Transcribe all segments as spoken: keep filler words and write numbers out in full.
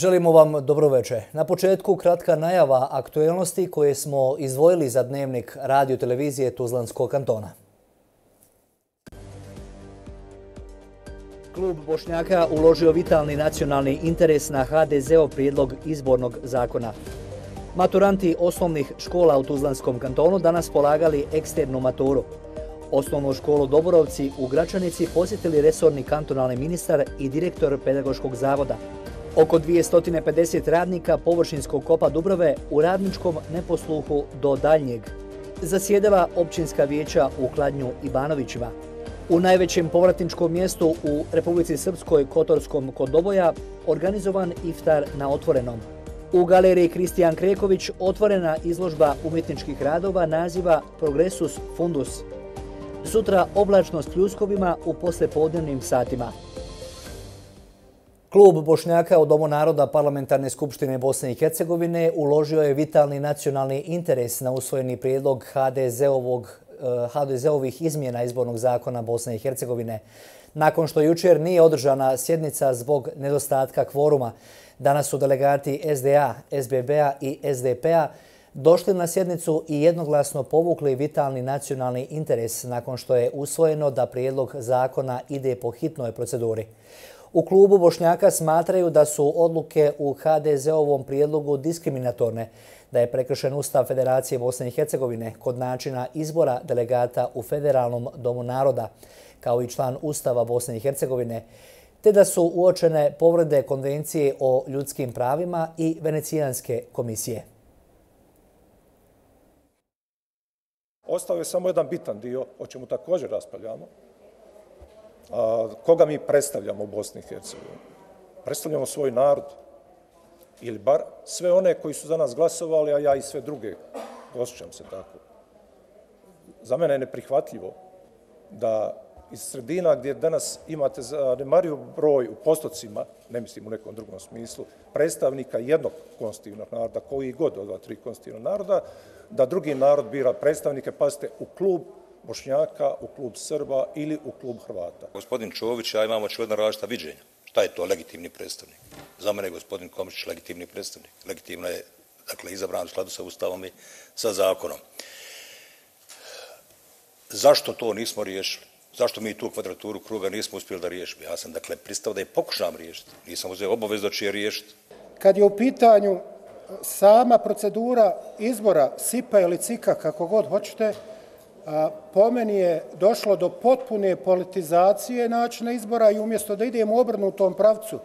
Želimo vam dobro večer. Na početku kratka najava aktuelnosti koje smo izdvojili za dnevnik radio televizije Tuzlanskog kantona. Klub Bošnjaka uložio vitalni nacionalni interes na ha de zeov prijedlog izbornog zakona. Maturanti osnovnih škola u Tuzlanskom kantonu danas polagali eksternu maturu. Osnovnu školu Doborovci u Gračanici posjetili resorni kantonalni ministar i direktor pedagoškog zavoda. Oko dvjesto pedeset radnika površinskog kopa Dubrave u radničkom neposluhu do daljnjeg. Zasjedala općinska vijeća u Kladnju i Banovićima. U najvećem povratničkom mjestu u Republici Srpskoj Kotorskom kod Doboja organizovan iftar na otvorenom. U galeriji Kristijan Kreković otvorena izložba umjetničkih radova naziva Progresus Fundus. Sutra oblačnost pljuskovima u poslepodnevnim satima. Klub Bošnjaka u Domu naroda Parlamentarne skupštine Bosne i Hercegovine uložio je vitalni nacionalni interes na usvojeni prijedlog ha de zeovog ha de zeovih izmjena izbornog zakona Bosne i Hercegovine. Nakon što jučer nije održana sjednica zbog nedostatka kvoruma, danas su delegati es de a, es be be a i es de pe a došli na sjednicu i jednoglasno povukli vitalni nacionalni interes nakon što je usvojeno da prijedlog zakona ide po hitnoj proceduri. U klubu Bošnjaka smatraju da su odluke u ha de zeovom prijedlogu diskriminatorne, da je prekršen Ustav Federacije Bosne i Hercegovine kod načina izbora delegata u Federalnom domu naroda, kao i član Ustava Bosne i Hercegovine, te da su uočene povrede Konvencije o ljudskim pravima i Venecijanske komisije. Ostao je samo jedan bitan dio, o čemu također raspravljamo. A, koga mi predstavljamo u Bosni i Hercegovini? Predstavljamo svoj narod. Ili bar sve one koji su za nas glasovali, a ja i sve druge. Osjećam se tako. Za mene je neprihvatljivo da iz sredina gdje danas imate zanemariv broj u postocima, ne mislim u nekom drugom smislu, predstavnika jednog konstitutivnog naroda, koji god od dva, tri konstitutivnog naroda, da drugi narod bira predstavnike, pazite, u klub Bošnjaka, u klub Srba ili u klub Hrvata. Gospodin Čović, ja imamo očigledno različita viđenja. Šta je to legitimni predstavnik? Za mene je gospodin Komšić legitimni predstavnik. Legitimno je, dakle, izabran u skladu sa Ustavom i sa zakonom. Zašto to nismo riješili? Zašto mi tu kvadraturu kruga nismo uspjeli da riješimo? Ja sam, dakle, pristao da je pokušam riješiti. Nisam uzeo obavezu da će je riješiti. Kad je u pitanju sama procedura izbora sipa ili cika, kako god hoćete, po meni je došlo do potpune politizacije načina izbora i umjesto da idemo u obrnutom pravcu,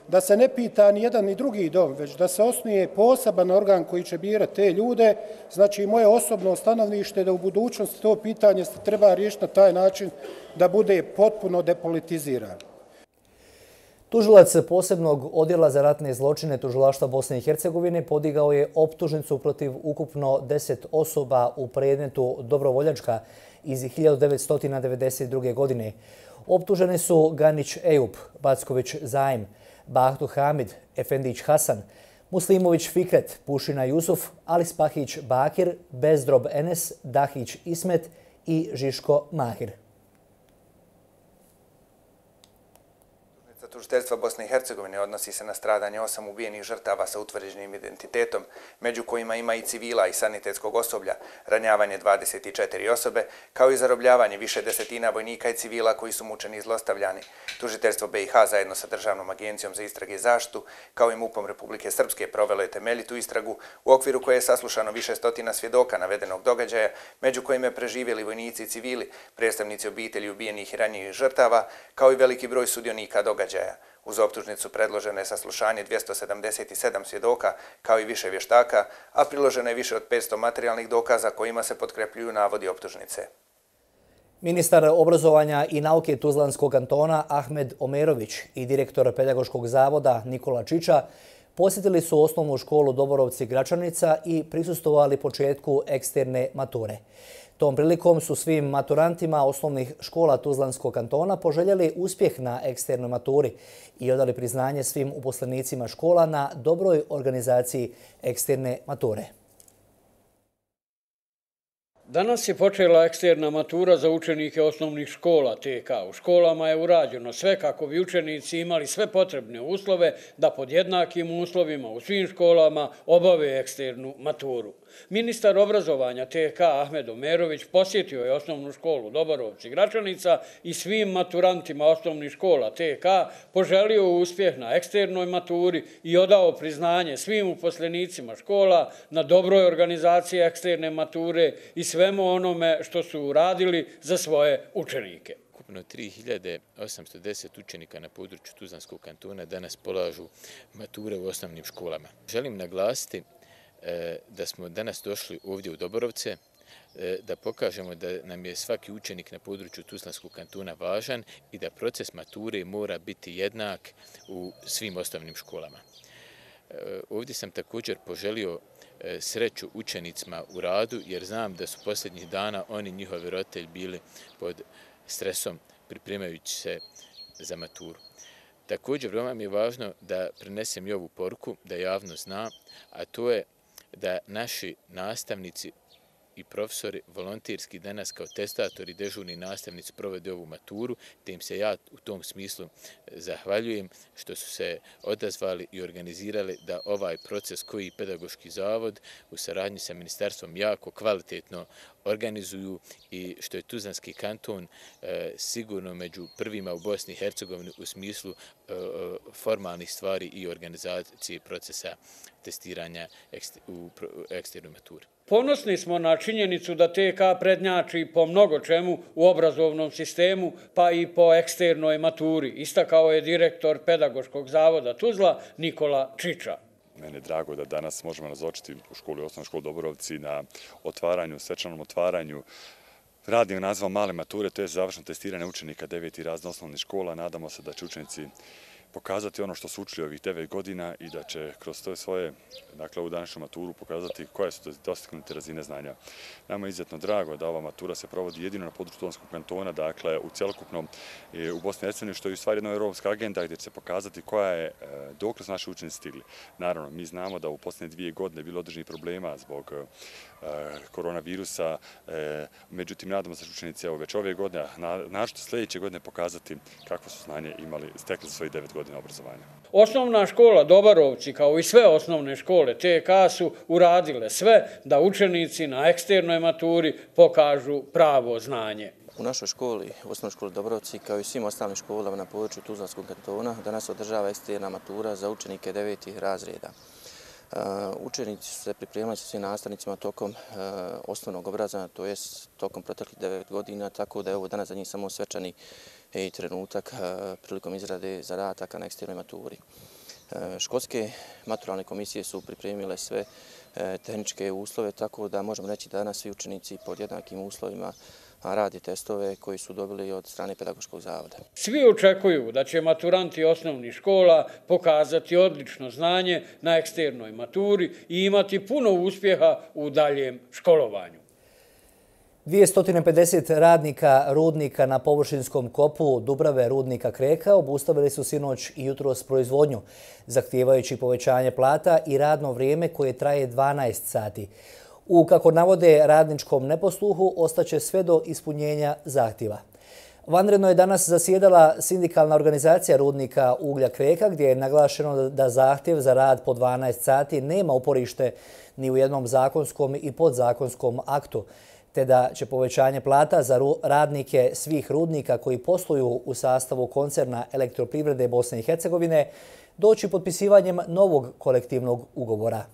da se ne pita ni jedan ni drugi dom, već da se osnuje poseban organ koji će birati te ljude, znači moje osobno stanovnište da u budućnosti to pitanje se treba riješiti na taj način da bude potpuno depolitizirano. Tužilac posebnog odjela za ratne zločine Tužilaštva Bosne i Hercegovine podigao je optužnicu protiv ukupno deset osoba u predmetu Dobrovoljačka iz hiljadu devetsto devedeset druge. godine. Optužene su Ganić Ejup, Backović Zaim, Bahtu Hamid, Efendić Hasan, Muslimović Fikret, Pušina Jusuf, Alispahić Bakir, Bezdrob Enes, Dahić Ismet i Žiško Mahir. Tužiteljstva Bosne i Hercegovine odnosi se na stradanje osam ubijenih žrtava sa utvrđenim identitetom, među kojima ima i civila i sanitetskog osoblja, ranjavanje dvadeset četiri osobe, kao i zarobljavanje više desetina vojnika i civila koji su mučeni i zlostavljani. Tužiteljstvo be i ha zajedno sa Državnom agencijom za istrage i zaštitu, kao i mupom Republike Srpske, provelo je temeljitu istragu u okviru koje je saslušano više stotina svjedoka navedenog događaja, među kojima je preživjeli vojnici i civili, predstavnici obitelji ubijenih i ranjivih žrtava, kao i veliki broj sudionika događaja. Uz optužnicu predloženo je saslušanje dvjesto sedamdeset sedam svjedoka, kao i više vještaka, a priloženo je više od petsto materijalnih dokaza kojima se potkrepljuju navodi optužnice. Ministar obrazovanja i nauke Tuzlanskog kantona Ahmed Omerović i direktor pedagoškog zavoda Nikola Čiča posjetili su osnovnu školu Doborovci Gračanica i prisustvovali početku eksterne mature. Tom prilikom su svim maturantima osnovnih škola Tuzlanskog kantona poželjeli uspjeh na eksternoj maturi i odali priznanje svim uposlenicima škola na dobroj organizaciji eksterne mature. Danas je počela eksterna matura za učenike osnovnih škola T K. U školama je urađeno sve kako bi učenici imali sve potrebne uslove da pod jednakim uslovima u svim školama obave eksternu maturu. Ministar obrazovanja T K Ahmed Omerović posjetio je osnovnu školu Doborovci Gračanica i svim maturantima osnovnih škola T K poželio uspjeh na eksternoj maturi i odao priznanje svim uposlenicima škola na dobroj organizaciji eksterne mature i svemu onome što su uradili za svoje učenike. Ukupno tri hiljade osamsto deset učenika na području Tuzlanskog kantona danas polažu mature u osnovnim školama. Želim naglasiti da smo danas došli ovdje u Doborovce, da pokažemo da nam je svaki učenik na području Tuzlanskog kantona važan i da proces mature mora biti jednak u svim osnovnim školama. Ovdje sam također poželio sreću učenicima u radu, jer znam da su posljednjih dana oni i njihovi roditelji bili pod stresom pripremajući se za maturu. Također, veoma mi je važno da prenesem i ovu poruku, da javnost zna, a to je da naši nastavnici i profesori volonterski danas kao testatori, dežurni nastavnici provode ovu maturu, te im se ja u tom smislu zahvaljujem što su se odazvali i organizirali da ovaj proces koji Pedagoški zavod u saradnji sa ministarstvom jako kvalitetno organizuju i što je Tuzlanski kanton sigurno među prvima u Bosni i Hercegovini u smislu formalnih stvari i organizacije procesa testiranja u eksternoj maturi. Ponosni smo na činjenicu da T K prednjači po mnogo čemu u obrazovnom sistemu, pa i po eksternoj maturi, istakao je direktor Pedagoškog zavoda Tuzla Nikola Čiča. Mene je drago da danas možemo nazočiti u školi, osnovnoj školi Doborovci na otvaranju, svečanom otvaranju radnog naziva male mature, to je završno testiranje učenika deveti razred osnovnih škola. Nadamo se da će učenici pokazati ono što su učili ovih devet godina i da će kroz to svoje, dakle ovu današnju maturu pokazati koje su dostignute razine znanja. Nama je izuzetno drago da ova matura se provodi jedino na području Tuzlanskog kantona, dakle u cjelokupnom u Bosni i Hercegovini, što je u stvari jedna europska agenda gdje će se pokazati koja je, dokle su naši učenici stigli. Naravno, mi znamo da u posljednje dvije godine je bilo određenih problema zbog koronavirusa, međutim, nadamo se da učenici već ove godine, našto sljedeće godine pokazati kakvo su znanje imali, stekli za svojih devet godina obrazovanja. Osnovna škola Doborovci, kao i sve osnovne škole T K, su uradile sve da učenici na eksternoj maturi pokažu pravo znanje. U našoj školi, u osnovnoj školi Doborovci, kao i svim ostalim školama na području Tuzlanskog kantona, danas održava eksterna matura za učenike devetih razreda. Učenici su se pripremali sa svim nastavnicima tokom osnovnog obrazovanja, to je tokom proteklih devet godina, tako da je ovo danas za njih samo svečani trenutak prilikom izrade zadataka na eksternoj maturi. Školske maturalne komisije su pripremile sve tehničke uslove, tako da možemo reći da danas svi učenici pod jednakim uslovima radi testove koji su dobili od strane Pedagoškog zavoda. Svi očekuju da će maturanti osnovnih škola pokazati odlično znanje na eksternoj maturi i imati puno uspjeha u daljem školovanju. dvjesto pedeset radnika rudnika na površinskom kopu Dubrave rudnika Kreka obustavili su sinoć i jutros proizvodnju, zahtijevajući povećanje plata i radno vrijeme koje traje dvanaest sati. U, kako navode, radničkom neposluhu ostaće sve do ispunjenja zahtjeva. Vanredno je danas zasjedala sindikalna organizacija rudnika Uglja Kreka, gdje je naglašeno da zahtjev za rad po dvanaest sati nema uporište ni u jednom zakonskom i podzakonskom aktu, te da će povećanje plata za radnike svih rudnika koji posluju u sastavu koncerna Elektroprivrede Bosne i Hercegovine doći potpisivanjem novog kolektivnog ugovora.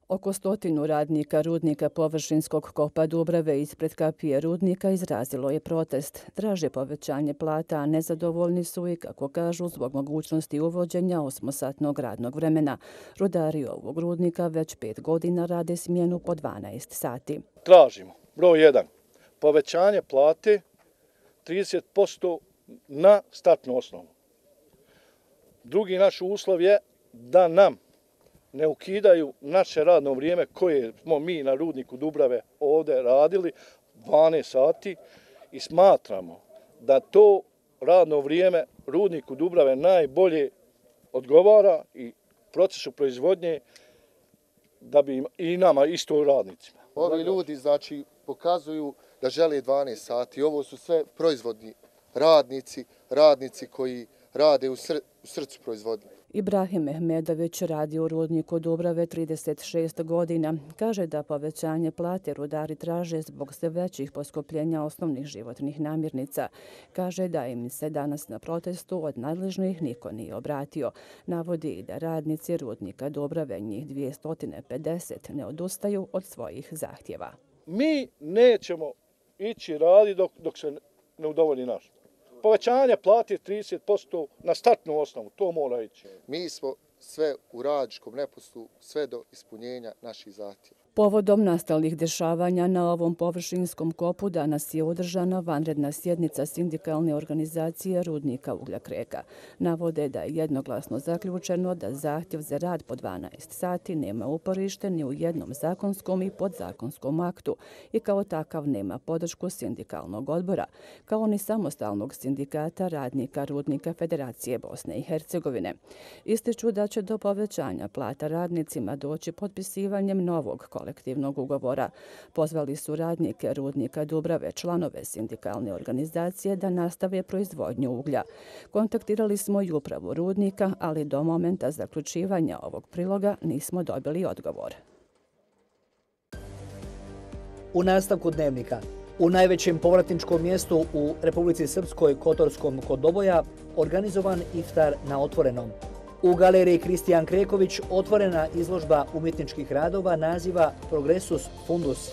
Oko stotinu radnika rudnika površinskog kopa Dubrave ispred kapije rudnika izrazilo je protest. Traže povećanje plata, a nezadovoljni su i, kako kažu, zbog mogućnosti uvođenja osmosatnog radnog vremena. Rudari ovog rudnika već pet godina rade smjenu po dvanaest sati. Tražimo, broj jedan, povećanje plate trideset posto na startnu osnovu. Drugi naš uslov je da nam ne ukidaju naše radno vrijeme koje smo mi na rudniku Dubrave ovdje radili dvanaest sati i smatramo da to radno vrijeme rudniku Dubrave najbolje odgovara i procesu proizvodnje da bi im, i nama isto radnicima. Ovi ljudi znači pokazuju da žele dvanaest sati. Ovo su sve proizvodni radnici, radnici koji rade u, sr u srcu proizvodnje. Ibrahim Mehmedović radi u rudniku Dubrave trideset šest godina. Kaže da povećanje plate rudari traže zbog sve većih poskupljenja osnovnih životnih namirnica. Kaže da im se danas na protestu od nadležnih niko nije obratio. Navodi i da radnici rudnika Dubrave, njih dvjesto pedeset, ne odustaju od svojih zahtjeva. Mi nećemo ići radi dok, dok se ne udovolji naš. Povećanje plati trideset posto na startnu osnovu, to mora ići. Mi smo sve u radničkom neposlu, sve do ispunjenja naših zahtjeva. Povodom nastalih dešavanja na ovom površinskom kopu danas je održana vanredna sjednica sindikalne organizacije rudnika Uglja Kreka. Navode da je jednoglasno zaključeno da zahtjev za rad po dvanaest sati nema uporište ni u jednom zakonskom i podzakonskom aktu i kao takav nema podršku sindikalnog odbora, kao ni samostalnog sindikata radnika rudnika Federacije Bosne i Hercegovine. Ističu da će do povećanja plata radnicima doći potpisivanjem novog kolektiva kolektivnog ugovora. Pozvali su radnike rudnika Dubrave, članove sindikalne organizacije, da nastave proizvodnju uglja. Kontaktirali smo i upravu rudnika, ali do momenta zaključivanja ovog priloga nismo dobili odgovor. U nastavku dnevnika. U najvećem povratničkom mjestu u Republici Srpskoj, Kotorskom kod Doboja, organizovan iftar na otvorenom. U galeriji Kristijan Kreković otvorena izložba umjetničkih radova naziva Progresus Fundus.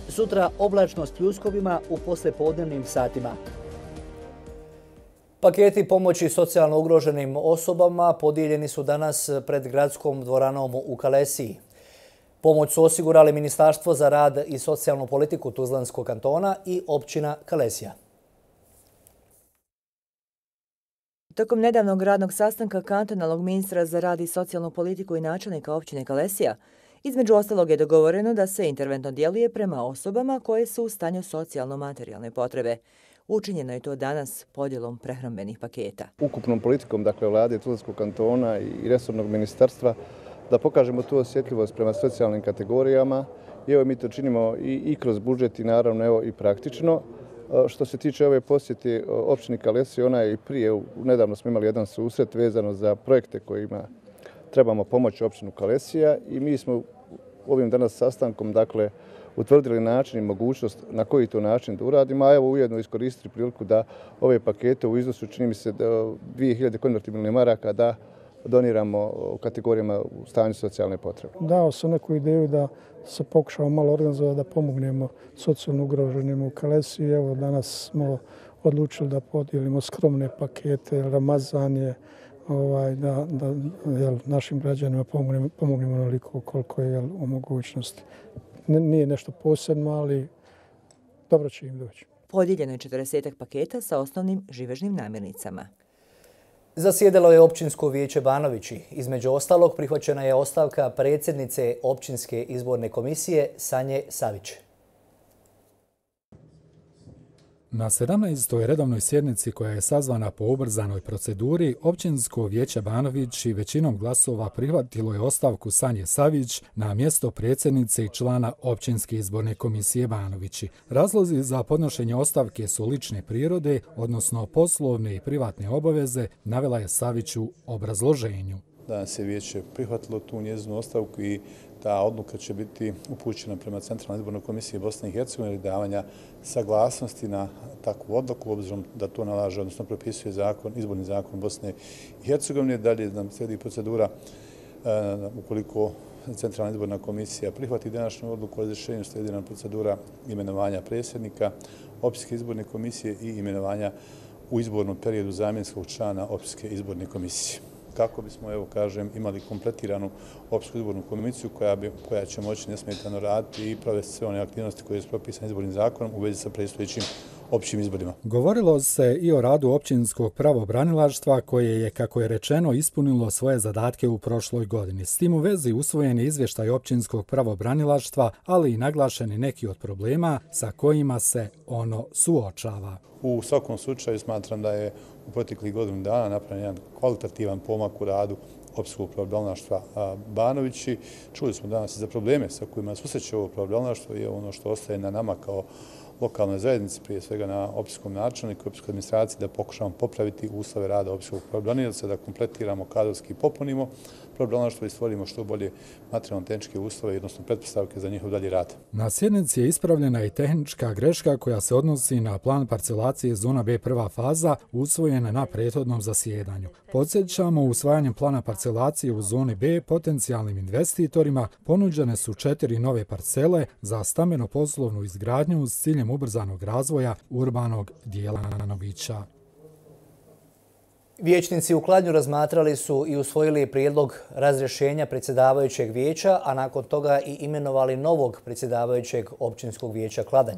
Sutra oblačno s pljuskovima u poslepodnevnim satima. Paketi pomoći socijalno ugroženim osobama podijeljeni su danas pred gradskom dvoranom u Kalesiji. Pomoć su osigurali Ministarstvo za rad i socijalnu politiku Tuzlanskog kantona i općina Kalesija. Tokom nedavnog radnog sastanka kantonalnog ministra za rad i socijalnu politiku i načelnika općine Kalesija, između ostalog je dogovoreno da se interventno djeluje prema osobama koje su u stanju socijalno-materijalne potrebe. Učinjeno je to danas podjelom prehrambenih paketa. Ukupnom politikom, dakle, vlade Tuzlanskog kantona i resornog ministarstva, da pokažemo tu osjetljivost prema socijalnim kategorijama. I evo mi to činimo i, i kroz budžet i naravno evo i praktično. Što se tiče ove posjete općini Kalesija, ona je i prije, nedavno smo imali jedan susret vezano za projekte kojima trebamo pomoći općinu Kalesija i mi smo ovim danas sastankom, dakle, utvrdili način i mogućnost na koji to način da uradimo, a evo ujedno iskoristili priliku da ove pakete u iznosu, čini mi se, dvije hiljade konvertibilnih maraka da doniramo u kategorijama u stanju socijalne potrebe. Dao sam neku ideju da se pokušamo malo organizovati da pomognemo socijalno ugroženim u Kalesiji. Evo danas smo odlučili da podijelimo skromne pakete, Ramazan je, ovaj, da, da jel, našim građanima pomognemo, pomognemo onoliko koliko je jel, u mogućnosti. Nije nešto posebno, ali dobro će im doći. Podijeljeno je četrdeset paketa sa osnovnim živežnim namirnicama. Zasjedalo je općinsko vijeće Banovići. Između ostalog prihvaćena je ostavka predsjednice općinske izborne komisije Sanje Savić. Na sedamnaestoj redovnoj sjednici koja je sazvana po ubrzanoj proceduri, općinsko vijeće Banovići većinom glasova prihvatilo je ostavku Sanje Savić na mjesto predsjednice i člana općinske izborne komisije Banovići. Razlozi za podnošenje ostavke su lične prirode, odnosno poslovne i privatne obaveze, navela je Savić u obrazloženju. Danas je vijeće prihvatilo tu njezinu ostavku i ta odluka će biti upućena prema Centralnoj izbornoj komisiji Bosne i Hercegovine ili davanja saglasnosti na takvu odluku, obzirom da to nalaže, odnosno propisuje zakon, izborni zakon Bosne i Hercegovine. Dalje nam slijedi procedura ukoliko Centralna izborna komisija prihvati današnju odluku o razrješenju, slijedi nam procedura imenovanja predsjednika općinske izborne komisije i imenovanja u izbornom periodu zamjenskog člana općinske izborne komisije. Kako bismo, evo kažem, imali kompletiranu općinsku izbornu komisiju koja, bi, koja će moći nesmetano raditi i provesti sve one aktivnosti koje su propisane izbornim zakonom u vezi sa predstojećim općim izborima. Govorilo se i o radu općinskog pravobranilaštva koje je, kako je rečeno, ispunilo svoje zadatke u prošloj godini. S tim u vezi usvojen je izvještaj općinskog pravobranilaštva, ali i naglašeni neki od problema sa kojima se ono suočava. U svakom slučaju smatram da je u proteklih godinu dana napravljen jedan kvalitativan pomak u radu općinskog pravobranilaštva Banovići. Čuli smo danas i za probleme sa kojima susreće ovo pravobranilaštvo i ono što ostaje na nama kao lokalnoj zajednici, prije svega na općinskom načelniku i općinskoj administraciji, da pokušamo popraviti uslove rada općinskog pravobranilca, da kompletiramo kadrovski i popunimo pravobranilaštvo i stvorimo što bolje materijalno-tehničke uslove, odnosno pretpostavke za njihov dalji rad. Na sjednici je ispravljena i tehnička greška koja se odnosi na plan parcelacije zona B prva faza usvojena na prethodnom zasjedanju. Podsjećamo, usvajanjem plana parcelacije u zoni B potencijalnim investitorima ponuđene su četiri nove parcele za stambeno-poslovnu izgradnju s ciljem ubrzanog razvoja urbanog dijela Novića. Vijećnici u Kladnju razmatrali su i usvojili prijedlog razrješenja predsjedavajućeg vijeća, a nakon toga i imenovali novog predsjedavajućeg općinskog vijeća Kladanj.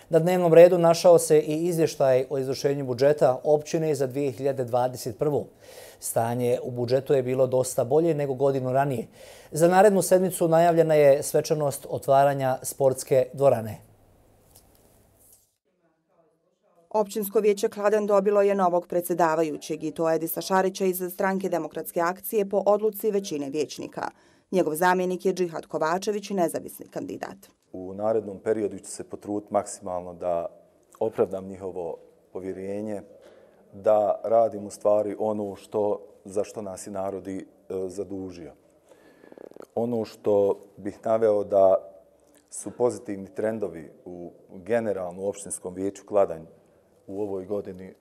Na dnevnom redu našao se i izvještaj o izvršenju budžeta općine za dvije hiljade dvadeset prvu. Stanje u budžetu je bilo dosta bolje nego godinu ranije. Za narednu sedmicu najavljena je svečanost otvaranja sportske dvorane. Općinsko vijeće Kladanj dobilo je novog predsjedavajućeg i to Edisa Šarića iz Stranke demokratske akcije po odluci većine vijećnika. Njegov zamjenik je Džihad Kovačević, nezavisni kandidat. U narednom periodu ću se potruditi maksimalno da opravdam njihovo povjerenje, da radim u stvari ono što, za što nas i narodi e, zadužio. Ono što bih naveo da su pozitivni trendovi u generalno općinskom vijeću Kladanj u ovoj godini e,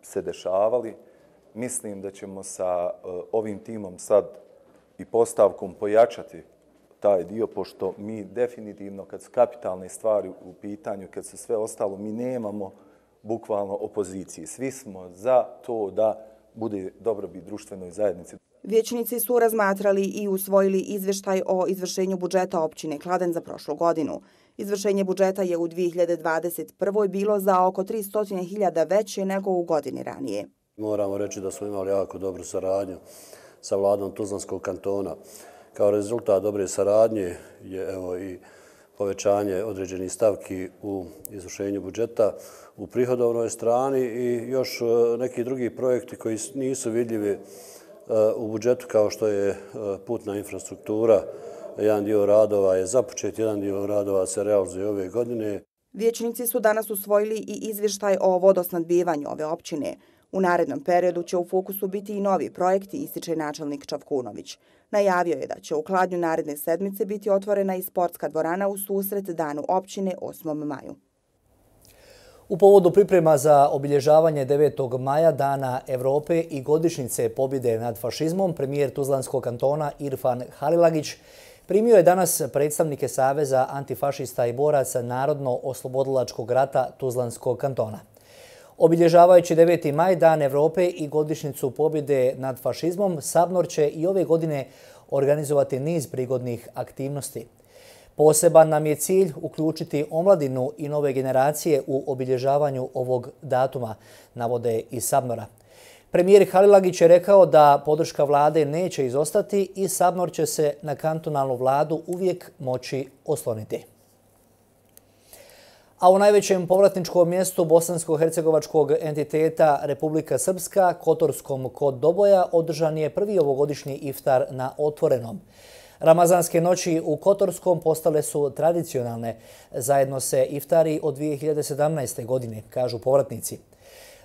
se dešavali. Mislim da ćemo sa e, ovim timom sad i postavkom pojačati taj dio, pošto mi definitivno, kad su kapitalne stvari u pitanju, kad su sve ostalo, mi nemamo bukvalno opozicije. Svi smo za to da bude dobrobit društvenoj zajednici. Vijećnici su razmatrali i usvojili izvještaj o izvršenju budžeta općine Kladanj za prošlu godinu. Izvršenje budžeta je u dvije hiljade dvadeset prvoj bilo za oko tristo hiljada veće nego u godini ranije. Moramo reći da smo imali jako dobru saradnju sa vladom Tuzlanskog kantona. Kao rezultat dobre saradnje je evo i povećanje određenih stavki u izvršenju budžeta u prihodovnoj strani i još neki drugi projekti koji nisu vidljivi u budžetu, kao što je putna infrastruktura. Jedan dio radova je započet, jedan dio radova se realizuje ove godine. Vijećnici su danas usvojili i izvještaj o vodosnadbivanju ove općine. U narednom periodu će u fokusu biti i novi projekti, ističe načelnik Čavkunović. Najavio je da će u Kladnju naredne sedmice biti otvorena i sportska dvorana u susret danu općine osmom maju. U povodu priprema za obilježavanje devetog maja Dana Evrope i godišnjice pobjede nad fašizmom, premijer Tuzlanskog kantona Irfan Halilagić primio je danas predstavnike Saveza antifašista i boraca Narodno-oslobodilačkog rata Tuzlanskog kantona. Obilježavajući deveti maj, Dan Evrope i godišnjicu pobjede nad fašizmom, Sabnor će i ove godine organizovati niz prigodnih aktivnosti. Poseban nam je cilj uključiti omladinu i nove generacije u obilježavanju ovog datuma, navode iz Sabnora. Premijer Halilagić je rekao da podrška vlade neće izostati i Sabnor će se na kantonalnu vladu uvijek moći osloniti. A u najvećem povratničkom mjestu bosansko-hercegovačkog entiteta Republika Srpska, Kotorskom kod Doboja, održan je prvi ovogodišnji iftar na otvorenom. Ramazanske noći u Kotorskom postale su tradicionalne. Zajedno se iftari od dvije hiljade sedamnaeste. godine, kažu povratnici.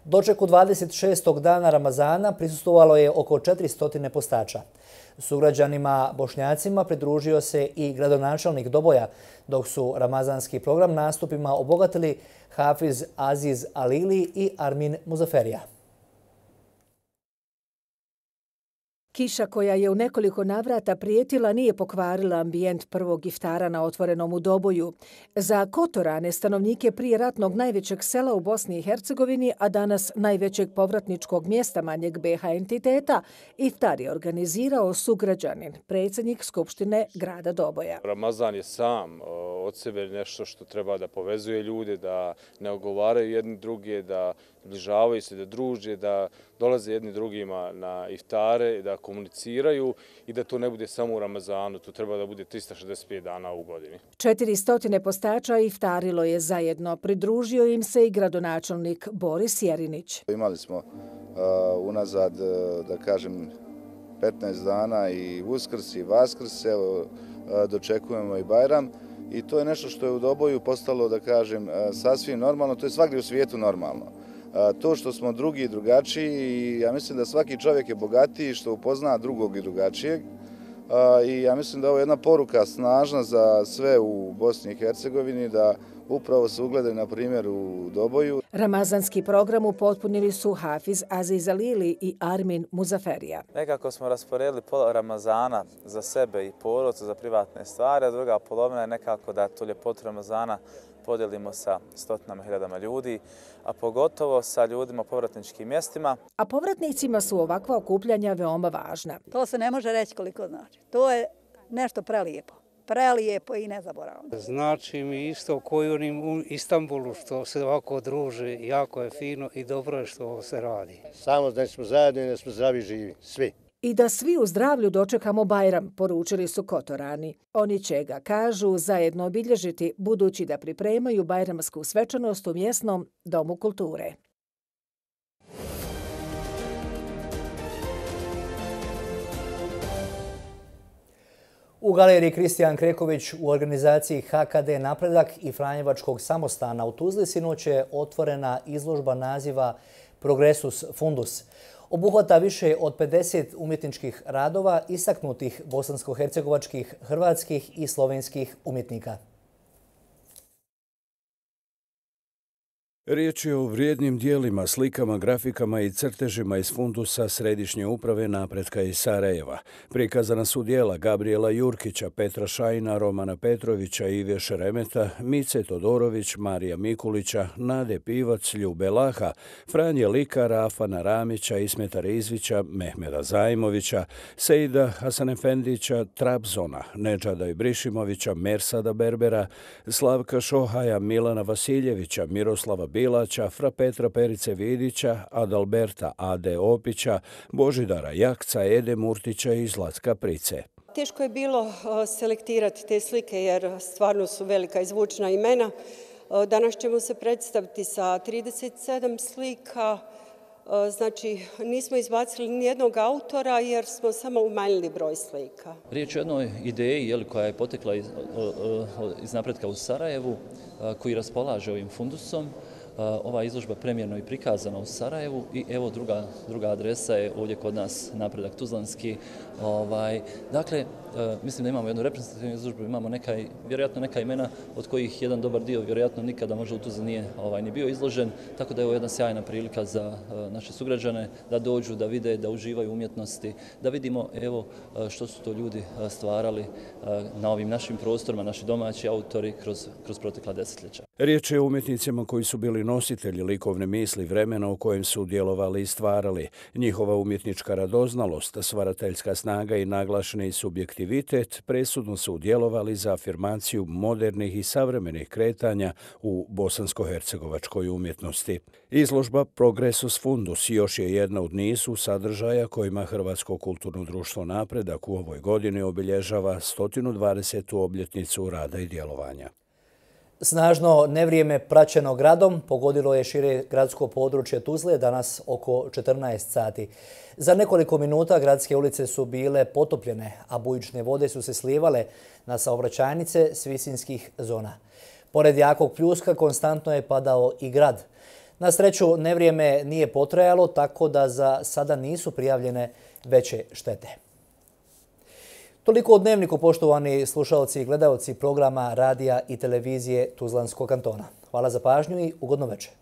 Dočeku dvadeset šestog dana Ramazana prisustvovalo je oko četiristo postača. Sugrađanima Bošnjacima pridružio se i gradonačelnik Doboja, dok su ramazanski program nastupima obogatili Hafiz Aziz Alili i Armin Muzaferija. Kiša koja je u nekoliko navrata prijetila nije pokvarila ambijent prvog iftara na otvorenom u Doboju. Za Kotorane, stanovnike prije ratnog najvećeg sela u Bosni i Hercegovini, a danas najvećeg povratničkog mjesta manjeg be ha entiteta, iftar je organizirao sugrađanin, predsjednik Skupštine grada Doboja. Ramazan je sam od sebe nešto što treba da povezuje ljude, da ne ogovaraju jedni druge, da bližavaju se, da druže, da dolaze jedni drugima na iftare, da komuniciraju i da to ne bude samo u Ramazanu, to treba da bude tristo šezdeset pet dana u godini. četiristo postača iftarilo je zajedno. Pridružio im se i gradonačelnik Boris Jerinić. Imali smo unazad, da kažem, petnaest dana i Uskrs i Vaskrs, evo, dočekujemo i Bajram. I to je nešto što je u Doboju postalo, da kažem, sasvim normalno, to je svakdje u svijetu normalno. To što smo drugi i drugačiji, ja mislim da svaki čovjek je bogatiji što upozna drugog i drugačijeg. I ja mislim da je ovo jedna poruka snažna za sve u Bosni i Hercegovini, da upravo se ugledaju na primjer u Doboju. Ramazanski program upotpunili su Hafiz Aziz Alili i Armin Muzaferija. Nekako smo rasporedili pola Ramazana za sebe i porodcu, za privatne stvari, a druga polovina je nekako da tu ljepotu Ramazana podijelimo sa stotinama hiljadama ljudi, a pogotovo sa ljudima u povratničkim mjestima. A povratnicima su ovakva okupljanja veoma važna. To se ne može reći koliko znači. To je nešto prelijepo. Prelijepo i nezaboravno. Znači mi isto koji onim u Istanbulu što se ovako druže, jako je fino i dobro je što ovo se radi. Samo da smo zajedno i da smo zdravi živi, svi. I da svi u zdravlju dočekamo Bajram, poručili su Kotorani. Oni će ga, kažu, zajedno obilježiti, budući da pripremaju bajramsku svečanost u mjesnom domu kulture. U galeriji Kristijan Kreković u organizaciji H K D Napredak i Franjevačkog samostana u Tuzli sinoć je otvorena izložba naziva Progresus Fundus. Obuhvata više od pedeset umjetničkih radova istaknutih bosansko-hercegovačkih, hrvatskih i slovenskih umjetnika. Riječ je o vrijednim dijelima, slikama, grafikama i crtežima iz fundusa Središnje uprave napretka iz Sarajeva. Prikazana su dijela Gabriela Jurkića, Petra Šajna, Romana Petrovića, Ive Šeremeta, Mice Todorović, Marija Mikulića, Nade Pivac, Ljube Laha, Franje Likara, Afana Ramića, Ismeta Rizvića, Mehmeda Zajmovića, Sejda Hasanefendića, Trabzona, Nedžada Ibrišimovića, Mersada Berbera, Slavka Šohaja, Milana Vasiljevića, Miroslava Bilaća, Fra Petra Perice Vidića, Adalberta Ade Opića, Božidara Jakca, Ede Murtića i Zlatka Price. Teško je bilo selektirati te slike jer stvarno su velika i zvučna imena. Danas ćemo se predstaviti sa trideset sedam slika. Znači, nismo izbacili nijednog autora jer smo samo umanjili broj slika. Riječ je o jednoj ideji koja je potekla iz napretka u Sarajevu, koji raspolaže ovim fundusom. Ova izložba premjerno i prikazana u Sarajevu i evo druga, druga adresa je ovdje kod nas, Napredak Tuzlanski. Ovaj, dakle, mislim da imamo jednu reprezentativnu izložbu, imamo neka, vjerojatno neka imena od kojih jedan dobar dio vjerojatno nikada možda u Tuzli nije ovaj, ni bio izložen, tako da je ovo jedna sjajna prilika za naše sugrađane da dođu, da vide, da uživaju umjetnosti, da vidimo evo što su to ljudi stvarali na ovim našim prostorima, naši domaći autori kroz, kroz protekla desetljeća. Riječ je o umjetnicima koji su bili nositelji likovne misli vremena u kojem su djelovali i stvarali. Njihova umjetnička radoznalost, stvarateljska snaga i naglašeni subjektivitet presudno su djelovali za afirmaciju modernih i savremenih kretanja u bosansko-hercegovačkoj umjetnosti. Izložba Progresus Fundus još je jedna od nizu sadržaja kojima Hrvatsko kulturno društvo Napredak u ovoj godini obilježava sto dvadesetu obljetnicu rada i djelovanja. Snažno nevrijeme praćeno gradom pogodilo je šire gradsko područje Tuzle danas oko četrnaest sati. Za nekoliko minuta gradske ulice su bile potopljene, a bujične vode su se slijevale na saobraćajnice s visinskih zona. Pored jakog pljuska konstantno je padao i grad. Na sreću nevrijeme nije potrajalo, tako da za sada nisu prijavljene veće štete. Toliko o Dnevniku, poštovani slušalci i gledalci programa radija i televizije Tuzlanskog kantona. Hvala za pažnju i ugodno večer.